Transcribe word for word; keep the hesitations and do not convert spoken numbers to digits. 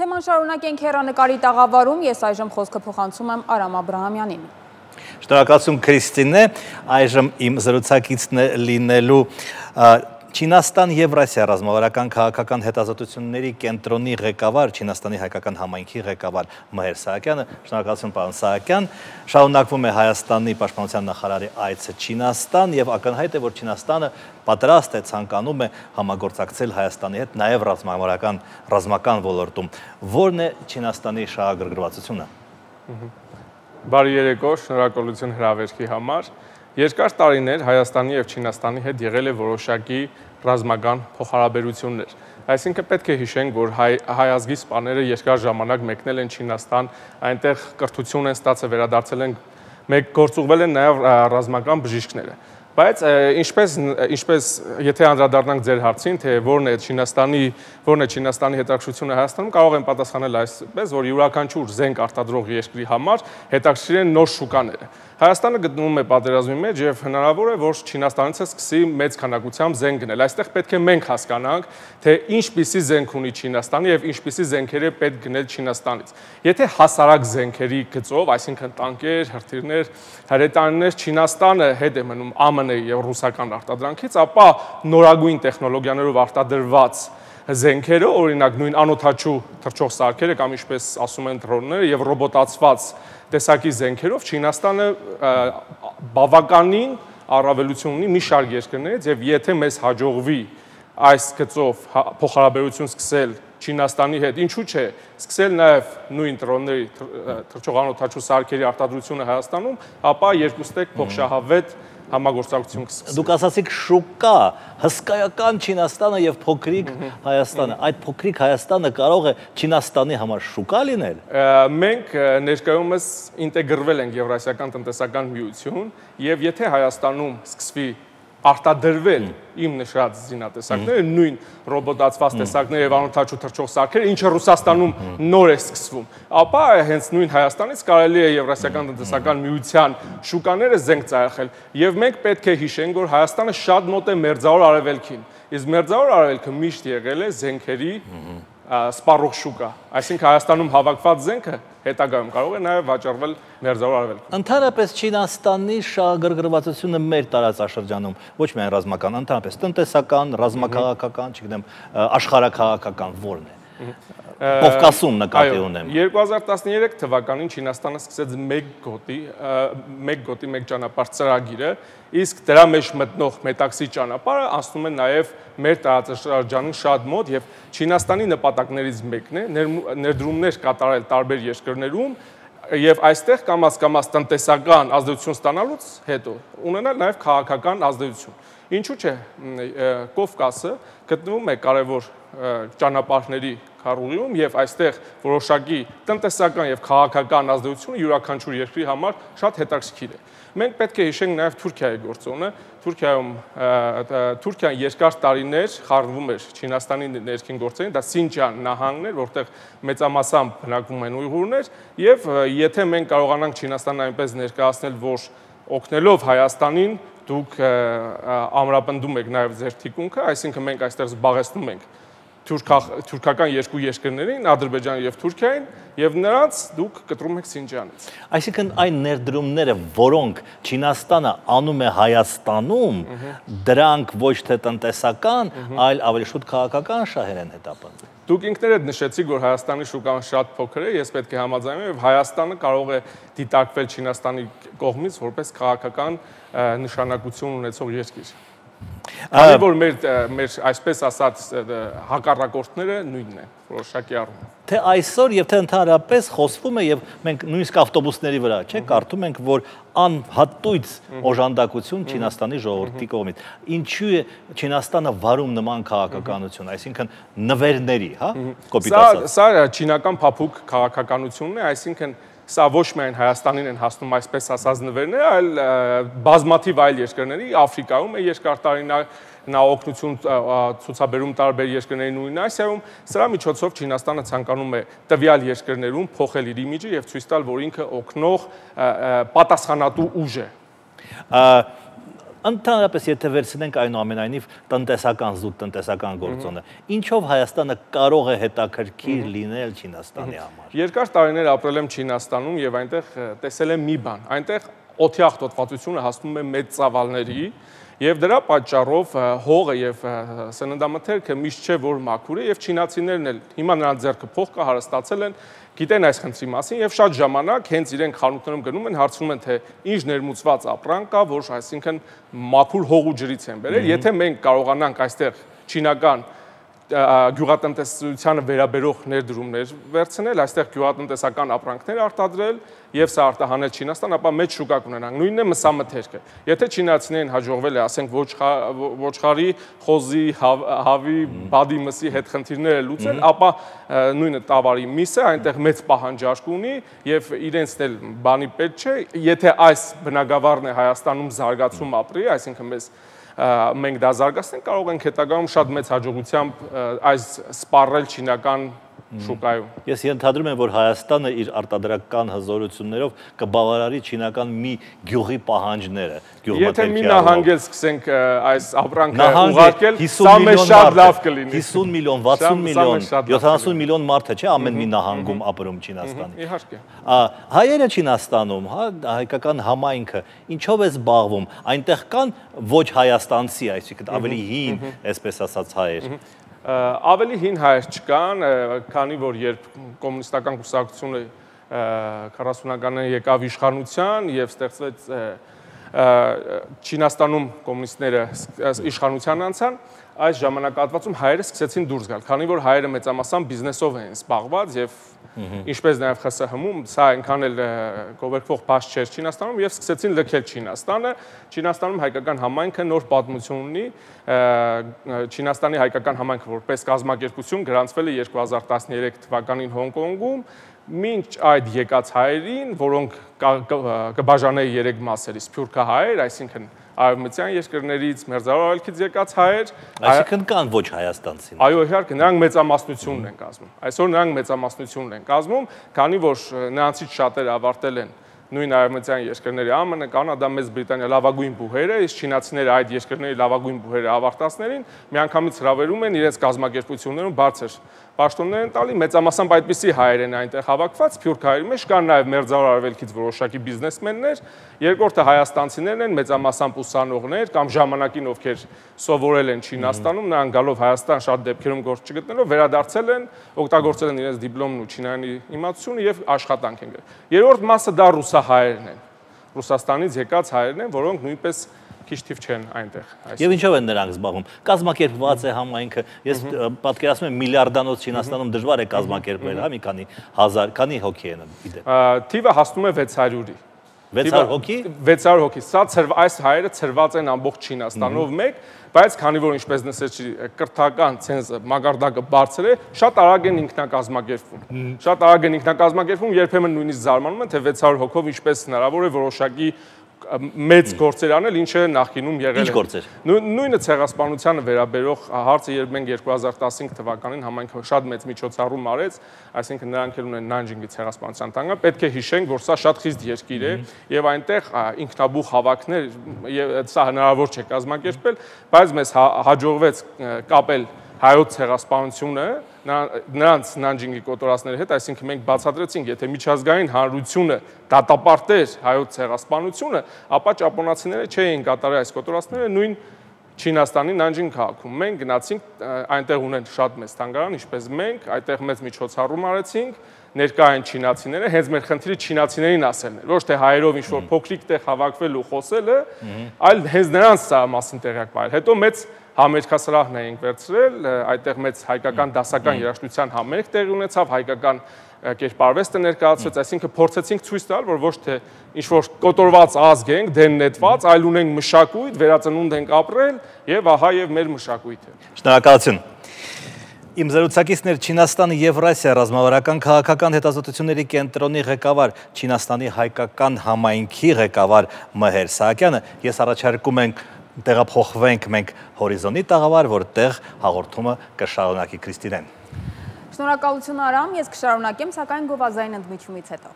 Թեման շարունակենք հեռանկարի տաղավարում, ես այժմ խոսքը փոխանցում եմ Արամ Աբրահամյանին։ Շնորհակալություն Քրիստինե, այժմ իմ զրուցակիցն է լինելու Չինաստան Եվրասիա ռազմավարական քաղաքական հետազոտությունների կենտրոնի ղեկավար, Չինաստանի հայկական համայնքի ղեկավար Մհեր Սահակյանը։ Շնորհակալություն պարոն Սահակյան։ Շարունակվում է Հայաստանի պաշտպանության նախարարի այցը Չինաստան եւ ակնհայտ է, որ Չինաստանը պատրաստ է, ցանկանում է համագործակցել Հայաստանի հետ նաեւ ռազմավարական ռազմական ոլորտում։ Որն է Չինաստանի շահագրգռվածությունը։ Բարի երեկո, շնորհակալություն հրավերքի համար։ Երկար տարիներ Հայաստանի եւ Չինաստանի հետ եղել է որոշակի ռազմական փոխհարաբերություններ։ Այսինքն պետք է հիշենք, որ հայ, հայ ազգի սպաները երկար ժամանակ մեկնել են Չինաստան, այնտեղ կրթություն են ստացել, վերադարձել են, մեկ գործուղվել են նաեւ ռազմական բժիշկները։ Բայց ինչպես ինչպես եթե անդրադառնանք ձեր հարցին, թե որն է Չինաստանի որն է Չինաստանի հետաքրքրությունը Հայաստանում, կարող են պատասխանել այսպես, որ յուրաքանչյուր զենք արտադրող երկրի համար հետաքրքիր են նոր շուկաները։ Հայաստանը գտնվում է պատերազմի մեջ եւ հնարավոր է, որ Չինաստանից սկսի մեծ քանակությամբ զենք գնել։ Այստեղ պետք է մենք հասկանանք, թե ինչպիսի զենք ունի Չինաստանը եւ ինչպիսի զենքեր է պետք գնել Չինաստանից։ Եթե հասարակ զենքերի գծով, այսինքն տանկեր, հրթիռներ, հրետանիներ, Չինաստանը հետ է մնում Ա Մ Ն-ի եւ ռուսական արտադրանքից, ապա նորագույն տեխնոլոգիաներով արտադրված զենքերը, օրինակ նույն անօդաչու թռչող սարքերը կամ ինչպես ասում են դրոնները եւ ռոբոտացված տեսակի զենքերով Չինաստանը բավականին առավելություն ունի մի շարք երկրներից եւ եթե մեզ հաջողվի այս գծով փոխհարաբերություն սկսել Չինաստանի հետ, ինչու՞ չէ, սկսել նաեւ նույն դրոնների թռչող անօդաչու սարքերի արտադրությունը Հայաստանում, ապա երկուստեք փոխշահավետ համագործակցություն կսկսի։ Դուք ասացիք շուկա, հսկայական Չինաստանը եւ փոքրիկ Հայաստանը։ Այդ փոքրիկ Հայաստանը կարող է Չինաստանի համար շուկա լինել։ Մենք ներկայումս ինտեգրվել ենք Եվրասիական տնտեսական միություն եւ եթե Հայաստանում սկսվի արտադրվել իմ նշած զինատեսակները, նույն ռոբոտացված տեսակները եւ անօդաչու թռչող սարքերը, ինչը Ռուսաստանում նոր է սկսվում, ապա հենց նույն Հայաստանից կարելի է Եվրասիական տնտեսական միության շուկաները զենք ծախել եւ մենք պետք է հիշենք, որ Հայաստանը շատ մոտ է Մերձավոր Արևելքին, իսկ Մերձավոր Արևելքը միշտ եղել է զենքերի սպառող շուկա, այսինքն Հայաստանում հավաքված զենքը հետագայում կարող է նաև վաճառվել Մերձավոր Արևելքում։ Ընդհանրապես Չինաստանի շահագրգռվածությունը մեր տարածաշրջանում ոչ միայն ռազմական, ընդհանրապես տնտեսական, ռազմաքաղաքական, չգիտեմ, աշխարհաքաղաքական որն է։ Կովկասում նկատի ունեմ։ երկու հազար տասներեք թվականին Չինաստանը սկսեց մեկ գոտի, մեկ գոտի, մեկ ճանապարհ ծրագիրը, իսկ դրա մեջ մտնող Մետաքսի ճանապարհը անցնում է նաև մեր տարածաշրջանին շատ մոտ եւ Չինաստանի նպատակներից մեկն է ներդրումներ կատարել տարբեր երկրներում եւ այստեղ կամաց-կամաց տնտեսական ազդեցություն ստանալուց հետո ունենալ նաեւ քաղաքական ազդեցություն։ Ինչու՞ չէ, Կովկասը գտնվում է կարևոր ճանապարհների քառուղիում եւ այստեղ որոշակի տնտեսական եւ քաղաքական ազդեցությունը յուրաքանչյուր երկրի համար շատ հետաքրքիր է։ Մենք պետք է հիշենք նաեւ Թուրքիայի գործոնը։ Թուրքիայում Թուրքիան երկար տարիներ խառնվում էր Չինաստանի ներքին գործերին, դա Սինջան նահանգն էր, որտեղ մեծամասամբ բնակվում են ույղուրներ, եւ եթե մենք կարողանանք Չինաստանն այնպես ներկայացնել, որ օգնելով Հայաստանին դուք ամրապնդում եք նաեւ ձեր թիկունքը, այսինքն մենք այստեղ զբաղեցնում ենք թուրքական երկու երկրներին, Ադրբեջանը եւ Թուրքիային, եւ նրանց դուք կտրում եք Սինջանից։ Այսինքն այն ներդրումները, որոնք Չինաստանը անում է Հայաստանում, դրանք ոչ թե տնտեսական, այլ ավելի շուտ քաղաքական շահեր են հետապնդում։ Դուք ինքներդ նշեցիք, որ Հայաստանի շուկան շատ փոքր է, ես պետք է համաձայնեմ, եւ Հայաստանը կարող է դիտարկվել Չինաստանի կողմից որպես քաղաքական նշանակություն ունեցող երկիր։ Այլ որ մեր մեր այսպես ասած հակառակորդները նույնն են որոշակի առումով։ Թե այսօր եւ թե ընդհանրապես խոսվում է եւ մենք նույնիսկ ավտոբուսների վրա, չէ՞, կարդում ենք, որ անհատույց օժանդակություն Չինաստանի ժողովրդի կողմից։ Ինչու է Չինաստանը վարում նման քաղաքականություն, այսինքն նվերների, հա, կոպիտ ասած։ Սա սա չինական փափուկ քաղաքականությունն է, այսինքն սա ոչ միայն Հայաստանին են հասնում այսպես ասած նվերները, այլ բազմաթիվ այլ երկրների, Աֆրիկայում է երկար տարիներ նա օգնություն ցուցաբերում տարբեր երկրների նույն Ասիայում, սրա միջոցով Չինաստանը ցանկանում է տվյալ երկրներում փոխել իր իմիջը եւ ցույց տալ, որ ինքը օգնող պատասխանատու ուժ է։ Ընդհանրապես եթե վերցնենք այնուամենայնիվ տնտեսական զուտ տնտեսական գործոնը, ինչով Հայաստանը կարող է հետաքրքիր լինել Չինաստանի համար։ Երկար տարիներ ապրել եմ Չինաստանում եւ այնտեղ տեսել եմ մի բան, այնտեղ օդի աղտոտվածությունը հասնում է մեծ ծավալների եւ դրա պատճառով հողը եւ սննդամթերքը միշտ չէ որ մաքուր է եւ չինացիներն էլ հիմա նրանց ձեռքը փող կա հարստացել են գիտեն այս խնդրի մասին եւ շատ ժամանակ հենց իրենք խանութներում գնում են հարցնում են թե ինչ ներմուծված ապրանք կա որ այսինքն մաքուր հող ու ջրից են բերել եթե մենք կարողանանք այստեղ չինական գյուղատնտեսությանը վերաբերող ներդրումներ վերցնել, այստեղ գյուղատնտեսական ապրանքներ արտադրել եւ սա արտահանել Չինաստան, ապա մեծ շուկա կունենանք։ Նույնն է մսամթերքը։ Եթե չինացիներին հաջողվել է, ասենք ոչխարի, խոզի, հավի, բադի մսի հետ խնդիրները լուծել, ապա նույնը տավարի միսը այնտեղ մեծ պահանջարկ ունի եւ իրենց էլ բանի պետք չէ, եթե այս բնակավարն է Հայաստանում զարգացում ապրի, այսինքն մեզ մենք դա զարգացնենք, կարող ենք հետագայում շատ մեծ հաջողությամբ այս սպառել չինական շուկայում։ Ես ենթադրում եմ, որ Հայաստանը իր արտադրական հզորություններով կբավարարի չինական մի գյուղի պահանջները, Եթե մի նահանգել սկսենք այս ապրանքը ուղարկել, սա մեզ շատ լավ կլինի։ հիսուն միլիոն, վաթսուն միլիոն, յոթանասուն միլիոն մարդ է, չէ՞, ամեն մի նահանգում ապրում Չինաստանի։ Իհարկե։ Հայերը Չինաստանում, հայկական համայնքը ինչով է զբաղվում, այնտեղ կան ոչ հայաստանցի, այսինքն ավելի հին, այսպես ասած հայեր։ Ավելի հին հայեր չկան, քանի որ երբ կոմունիստական կուսակցությունը քառասունականներին եկավ իշխանության եւ ստեղծվեց Չինաստանում կոմունիստները իշխանության անցան, այս ժամանակահատվածում հայերը սկսեցին դուրս գալ, քանի որ հայերը մեծամասամբ բիզնեսով են զբաղված եւ ինչպես նաեւ ԽՍՀՄ-ում սա այնքան էլ գովերքվող բաց չէր Չինաստանում եւ սկսեցին լքել Չինաստանը։ Չինաստանում հայկական համայնքը նոր պատմություն ունի, Չինաստանի հայկական համայնքը որպես կազմակերպություն գրանցվել է երկու հազար տասներեք թվականին Հոնկոնգում, մինչ այդ եկած հայերին, որոնք կբաժանեի երեք մասերի, սփյուռքահայեր, այսինքն արևմտյան երկրներից, Մերձավոր Արևելքից եկած հայեր, այսինքն կան ոչ հայաստանցիներ։ Այո, իհարկե, նրանք մեծամասնությունն են կազմում։ Այսօր նրանք մեծամասնությունն են կազմում, քանի որ նրանցից շատերը ավարտել են նույն արևմտյան երկրների ԱՄՆ, Կանադա, Մեծ Բրիտանիա լավագույն բուհերը, իսկ չինացիները այդ երկրների լավագույն բուհերը ավարտածներին միանգամից հրավերում են իրենց կազմակերպություններում բարձր պաշտոններ են տալի, մեծամասամբ այդպիսի հայեր են այնտեղ հավաքված, սփյուռք հայերի մեջ կան նաև Մերձավոր Արևելքից որոշակի բիզնեսմեններ, երկրորդը հայաստանցիներն են, մեծամասամբ ուսանողներ կամ ժամանակին ովքեր սովորել են Չինաստանում, նրանք գալով Հայաստան շատ դեպքերում գործ չգտնելով վերադարձել են, օգտագործել են իրենց դիպլոմն ու չինարանի իմացությունը եւ աշխատանք են գրել։ Երրորդ մասը դա ռուսահայերն են։ Ռուսաստանից եկած հայերն են, որոնք նույնպես քիչ թիվ չեն այնտեղ։ Եվ ինչով են նրանք զբաղվում։ Կազմակերպված է համայնքը։ Ես պատկերացնում եմ միլիարդանոց Չինաստանում դժվար է կազմակերպել, հա, մի քանի հազար, քանի հոգի են գիտեմ։ Թիվը հասնում է վեց հարյուրի։ վեց հարյուր հոգի։ վեց հարյուր հոգի։ Սա այս հայերը ծրված են ամբողջ Չինաստանով մեկ, բայց քանի որ ինչպես նշեցի, կրթական ցենզը մագարտակը բարձր է, շատ արագ են ինքնակազմակերպվում։ Շատ արագ են ինքնակազմակերպվում, երբեմն նույնիսկ զարմանում են, թե վեց հարյուր հոգով ինչպես հնարավոր է որոշակի մեծ գործեր անել, ինչը նախկինում եղել է։ Ինչ գործեր։ Նույնը ցեղասպանությանը վերաբերող հարցը, երբ մենք երկու հազար տասնհինգ թվականին համայնքը շատ մեծ միջոցառում արեց, այսինքն նրանք էլ ունեն Նանջինգի ցեղասպանության տանգը, պետք է հիշենք, որ սա շատ խիստ երկիր է եւ այնտեղ ինքնաբուխ հավաքներ եւ սա հնարավոր չէ կազմակերպել, բայց մեզ հաջողվեց կապել հայոց ցեղասպանությունը նրանց Նանջինգի կոտորածների հետ, այսինքն մենք բացատրեցինք, եթե միջազգային հանրությունը դատապարտեր հայոց ցեղասպանությունը, ապա ճապոնացիները չէին կատարել այս կոտորածները նույն Չինաստանի Նանջինգ քաղաքում։ Մենք գնացինք, այնտեղ ունեն շատ մեծ թանգարան, ինչպես մենք, այդտեղ մեծ միջոցառում արեցինք, ներկա են չինացիները, հենց մեր խնդիրը չինացիներին ասելն էր, ոչ թե հայերով ինչ-որ փոքրիկ տեղ հավաքվել ու խոսելը, այլ հենց նրանց սա մասին տեղյակ պահել։ Հետո մեծ համերգասրահն էինք վերցրել, այդտեղ մեծ հայկական դասական երաժշտության համերգ տեղի ունեցավ, հայկական կերպարվեստը ներկայացվեց, այսինքն փորձեցինք ցույց տալ, որ ոչ թե ինչ-որ կոտորված ազգ ենք, դեն նետված, այլ ունենք մշակույթ, վերածնունդ ենք ապրել եւ ահա եւ մեր մշակույթը։ Շնորհակալություն։ Իմ զրուցակիցներ Չինաստանի Եվրասիա ռազմավարական քաղաքական հետազոտությունների կենտրոնի ղեկավար, Չինաստանի հայկական համայնքի ղեկավար Մհեր Սահակյանը, ես առաջարկում ենք տեղափոխվենք մենք հորիզոնի տաղավար, որտեղ հաղորդումը կշարունակի Քրիստինեն։ Շնորհակալություն Արամ, ես կշարունակեմ, սակայն գովազային ընդմիջումից հետո։